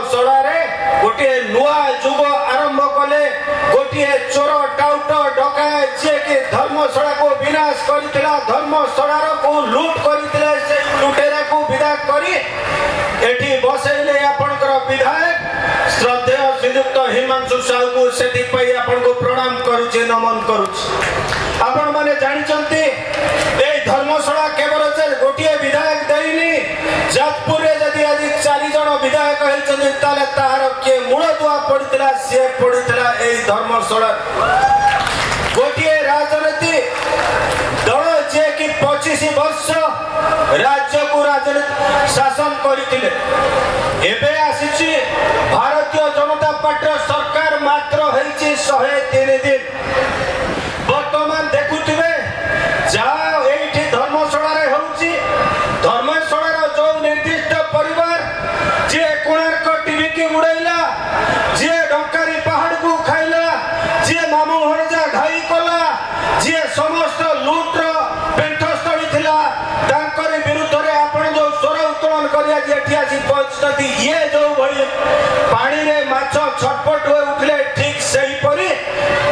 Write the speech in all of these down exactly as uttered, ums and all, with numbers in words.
ଧର୍ମଶାଳାରେ ଗୋଟିଏ ନୂଆ ଯୁଗ ଆରମ୍ଭ କଲେ। ଗୋଟିଏ ଚୋର, ଟାଉଟର, ଡକାୟତ ଯିଏକି ଧର୍ମଶାଳାକୁ ବିନାଶ କରିଥିଲା, ଧର୍ମଶାଳାକୁ ଲୁଟ କରିଥିଲେ, ସେଇ ଲୁଟେରାକୁ ବିଦା କରି ଏଠି ବସେଇଲେ ଆପଣଙ୍କର ବିଧାୟକ ଶ୍ରଦ୍ଧେୟ ଶ୍ରୀଯୁକ୍ତ ହିମାଂଶୁ ସାହୁକୁ। ସେଥିପାଇଁ ଆପଣଙ୍କୁ ପ୍ରଣାମ କରୁଛି, ନମନ କରୁଛି। ଆପଣମାନେ ଜାଣିଛନ୍ତି, ଏଇ ଧର୍ମଶାଳା କେବଳ ଯେ ଗୋଟିଏ ବିଧାୟକ ଦେଇନି, ଯାଜପୁରରେ ଯଦି ଆଜି ଚାରି ଜଣ ବିଧାୟକ ହେଇଛନ୍ତି, ତାହେଲେ ତାହାର କିଏ ମୂଳଦୁଆ ପଡିଥିଲା? ସିଏ ପଡିଥିଲା ଏଇ ଧର୍ମଶାଳା। ଗୋଟିଏ ରାଜନୀତି ଦଳ ଯିଏକି ପଚିଶ ବର୍ଷ ରାଜ୍ୟକୁ ରାଜନୀତି ଶାସନ କରିଥିଲେ, ଏବେ ଆସିଛି ଭାରତୀୟ ଜନତା ପାର୍ଟିର ସରକାର, ମାତ୍ର ହେଇଛି ଶହେ ତିନି ଦିନ। ବର୍ତ୍ତମାନ ଦେଖୁଥିବେ ଯାହା ଏଇଠି ଧର୍ମଶାଳାରେ ହେଉଛି। ଧର୍ମଶାଳାର ଯୋଉ ନିର୍ଦ୍ଦିଷ୍ଟ ପରିବାର, ଯିଏ କୋଣାର୍କ ଟିଭିକି ଉଡେଇଲା, ଯିଏ ଡଙ୍କାରୀ ପାହାଡକୁ ଖାଇଲା, ଯିଏ ମାମୁଁ ଭଣଜା ଘାଇ କଲା, ଯିଏ ସମସ୍ତ ଲୁଟ୍ର ପେଣ୍ଠସ୍ଥଳୀ ଥିଲା, ତାଙ୍କରି ବିରୁଦ୍ଧରେ ଆପଣ ଯୋଉ ସ୍ୱର ଉତ୍ତୋଳନ କରି ଆଜି ଏଠି ଆସି ପହଞ୍ଚିଛନ୍ତି, ଇଏ ଯୋଉ ଭଳି ପାଣିରେ ମାଛ ଛଟପଟ ହୋଇ ଉଠିଲେ, ଠିକ ସେହିପରି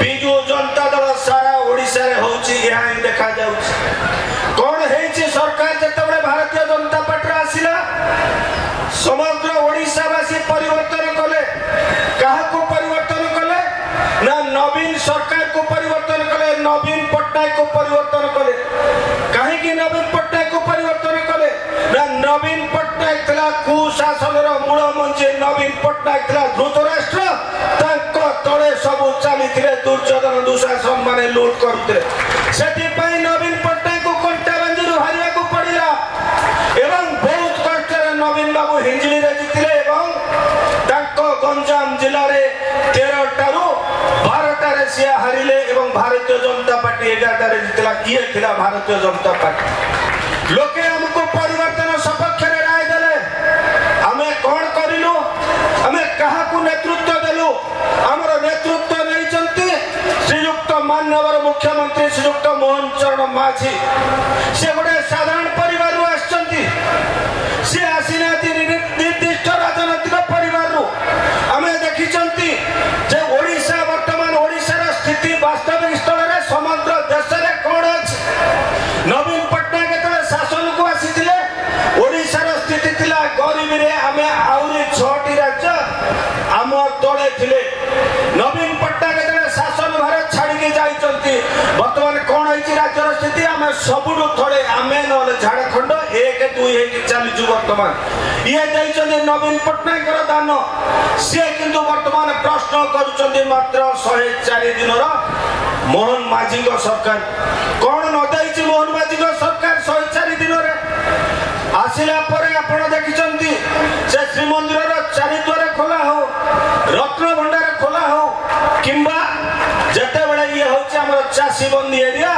ବିଜୁ ଜନତା ଦଳ ସାରା ଓଡ଼ିଶାରେ ହଉଛି, ଏହା ହିଁ ଦେଖାଯାଉଛି। କଣ ହେଇଛି? ସରକାର ଯେତେବେଳେ ଭାରତୀୟ ଜନତା ପାର୍ଟିର ଆସିଲା, ସମଗ୍ର ଓଡ଼ିଶାବାସୀ ପରିବର୍ତ୍ତନ କଲେ। କାହାକୁ ପରିବର୍ତ୍ତନ କଲେ ନା ନବୀନ ସରକାରକୁ ପରିବର୍ତ୍ତନ କଲେ, ନବୀନ ପଟ୍ଟନାୟକକୁ ପରିବର୍ତ୍ତନ କଲେ। କାହିଁକି ନବୀନ ପଟ୍ଟନାୟକକୁ ପରିବର୍ତ୍ତନ କଲେ ନା ନବୀନ ପଟ୍ଟନାୟକ ଥିଲା କୁଶାସନର ମୂଳ ମଞ୍ଜି, ନବୀନ ପଟ୍ଟନାୟକ ଥିଲା ଧୃତରାଷ୍ଟ୍ର, ତାଙ୍କ ତଳେ ସବୁ ଚାଲିଥିଲେ ଦୁର୍ଯ୍ୟୋଧନ ଦୁଶାସନ ମାନେ ଲୁଟ କରୁଥିଲେ। ସେଥିପାଇଁ ନବୀନ ପଟ୍ଟନାୟକକୁ କଣ୍ଟାବାଞ୍ଜିରୁ ହାରିବାକୁ ପଡ଼ିଲା ଏବଂ ବହୁତ କଷ୍ଟରେ ନବୀନ ବାବୁ ହିଞ୍ଜିଳିରେ ଜିତିଲେ ଏବଂ ତାଙ୍କ ଗଞ୍ଜାମ ଜିଲ୍ଲାରେ ତେରଟାରୁ ବାରଟାରେ ସିଏ ହାରିଲେ ଏବଂ ଭାରତୀୟ ଜନତା ପାର୍ଟି ଏଗାରଟାରେ ଜିତିଲା। ଇଏ ଥିଲା ଭାରତୀୟ ଜନତା ପାର୍ଟି। ଲୋକେ ଆମକୁ ପରିବର୍ତ୍ତନ ସପକ୍ଷରେ ରାୟ ଦେଲେ। ଆମେ କଣ କରିଲୁ? ଆମେ କାହାକୁ ନେତୃତ୍ୱ ଦେଲୁ? ଆମର ନେତୃତ୍ୱ ନେଇଛନ୍ତି ଶ୍ରୀଯୁକ୍ତ ମାନ୍ୟବର ମୁଖ୍ୟମନ୍ତ୍ରୀ ଶ୍ରୀଯୁକ୍ତ ମୋହନ ଚରଣ ମାଝୀ। ସେ ଗୋଟେ ସାଧାରଣ ପରିବାରରୁ ଆସିଛନ୍ତି, ସେ ଆସିନାହାନ୍ତି ନିର୍ଦ୍ଦିଷ୍ଟ ରାଜନୈତିକ ପରିବାରରୁ। ଆମେ ଦେଖିଛନ୍ତି ଯେ ଓଡ଼ିଶା, ବର୍ତ୍ତମାନ ଓଡ଼ିଶାର ସ୍ଥିତି ବାସ୍ତବିକ ସ୍ଥଳରେ ସମଗ୍ର ଦେଶରେ କଣ ଅଛି। ନବୀନ ପଟ୍ଟନାୟକ ଯେତେବେଳେ ଶାସନକୁ ଆସିଥିଲେ, ଓଡ଼ିଶାର ସ୍ଥିତି ଥିଲା ଗରିବୀରେ ଆମେ ଆହୁରି ଛଅଟି ରାଜ୍ୟ ଆମ ତଳେ ଥିଲେ। ନବୀନ ପଟ୍ଟନାୟକ ଯେତେବେଳେ ଶାସନ ଭାର ଛାଡ଼ିକି ଯାଇଛନ୍ତି, ବର୍ତ୍ତମାନ କଣ ହେଇଛି ରାଜ୍ୟର ସ୍ଥିତି? ଆମେ ସବୁଠୁ ତଳେ, ଆମେ ନହେଲେ ଝାଡ଼ଖଣ୍ଡ ଏକ ଦୁଇ ହେଇକି ଚାଲିଛୁ ବର୍ତ୍ତମାନ। ଇଏ ଦେଇଛନ୍ତି ନବୀନ ପଟ୍ଟନାୟକର ଦାନ। ସିଏ କିନ୍ତୁ ବର୍ତ୍ତମାନ ପ୍ରଶ୍ନ କରୁଛନ୍ତି ମାତ୍ର ଶହେ ଚାରି ଦିନର ମୋହନ ମାଝୀଙ୍କ ସରକାର କଣ ନ ଦେଇଛି। ମୋହନ ମାଝୀଙ୍କ ସରକାର ଶହେ ଚାରି ଦିନରେ ଆସିଲା ପରେ ଆପଣ ଦେଖିଛନ୍ତି, ସେ ଶ୍ରୀମନ୍ଦିରର ଚାରିଦ୍ୱାର ଖୋଲା ହଉ, ରତ୍ନ ଭଣ୍ଡାର ଖୋଲା ହଉ, କିମ୍ବା ଯେତେବେଳେ ଇଏ ହଉଛି ଆମର ଚାଷୀବନ୍ଦୀ ଏରିଆ,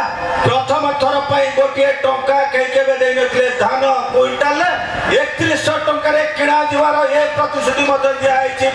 ପ୍ରଥମ ଥର ପାଇଁ ଗୋଟିଏ ଟଙ୍କା କେହି କେବେ ଦେଇନଥିଲେ, ଧାନ କୁଇଣ୍ଟାଲ ଏକତିରିଶହ ଟଙ୍କାରେ କିଣାଯିବାର ଏ ପ୍ରତିଶ୍ରୁତି ମଧ୍ୟ ଦିଆହେଇଛି।